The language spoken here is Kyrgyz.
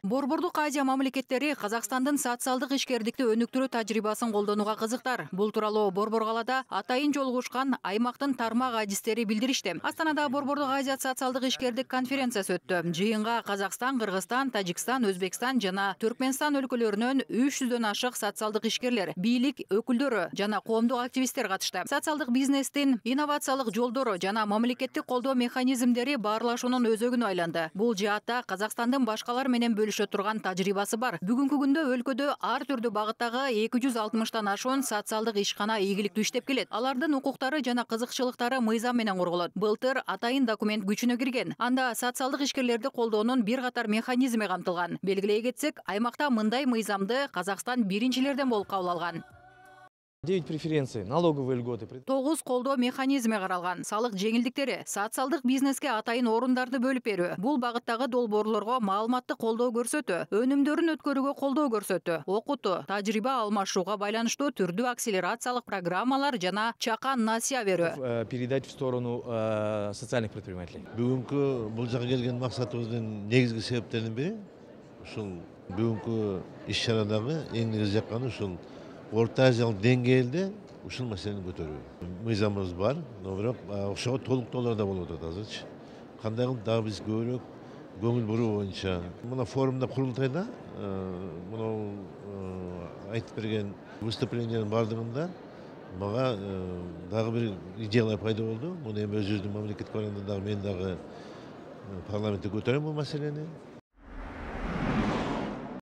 Борбордук Азия мамлекеттери Казакстандын социалдык ишкердикти өнүктүрүү тажрыйбасын колдонууга кызыктар. Бул тууралуу Борбор калаада атайын жолугушкан аймактын тармак адистери билдиришти. Астанада Борбордук Азия социалдык ишкердик конференциясы өттү. Жыйынга Казакстан, Кыргызстан, Тажикстан, Өзбекстан жана Түркмөнстан өлкөлөрүнөн 300дөн ашык социалдык ишкерлер, бийлик өкүлдөрү жана коомдук активисттер катышты. Социалдык бизнестин инновациялык жолдору жана мамлекеттик колдоо механизмдери баарлашуунун өзөгүнө айланды. Бул жаатта Казакстандын башкалар менен бөлүшө турган тажрыйбасы бар. Бүгүнкү күндө өлкөдө ар түрдүү багыттагы 260тан ашуун социалдык ишкана ийгиликтүү иштеп келет. Алардын укуктары жана кызыкчылыктары мыйзам менен корголот. Былтыр атайын документ күчүнө кирген. Анда социалдык ишкерлерди колдоонун бир катар механизми камтылган. Белгилей кетсек, аймакта мындай мыйзамды Казакстан биринчилерден болуп кабыл алган. 9 преференций, налоговые льготы. 9 колдоо механизми каралган. Салык жеңилдиктери, социалдык бизнеске атайын орундарды бөлүп берүү. Бул багыттагы долбоорлорго маалыматтык колдоо көрсөтүү, өнүмдөрүн өткөрүүгө колдоо көрсөтүү, окутуу, тажрыйба алмашууга байланыштуу түрдүү акселерациялык программалар жана чакан насыя берүү. Передать в сторону социальных предпринимателей. Бүгүнкү бул жака келген максатыбыздын негизги себептеринин бири ушул бүгүнкү иш-чарадагы эң негизги жакканы ушул Орта Азиялык деңгээлде ушул маселени көтөрүү. Мыйзамыбыз бар, но бирок ошого толуктоолор да болуп атат азырчы. Кандай кылып дагы биз көбүрөөк көңүл буруу боюнча. Мына форумда курултайда мына айтып берген выступлениянын бардыгында мага дагы бир идеялар пайда болду. Муну эми өзүбүздүн мамлекеттик барганда дагы мен дагы парламентте көтөрөм бул маселени.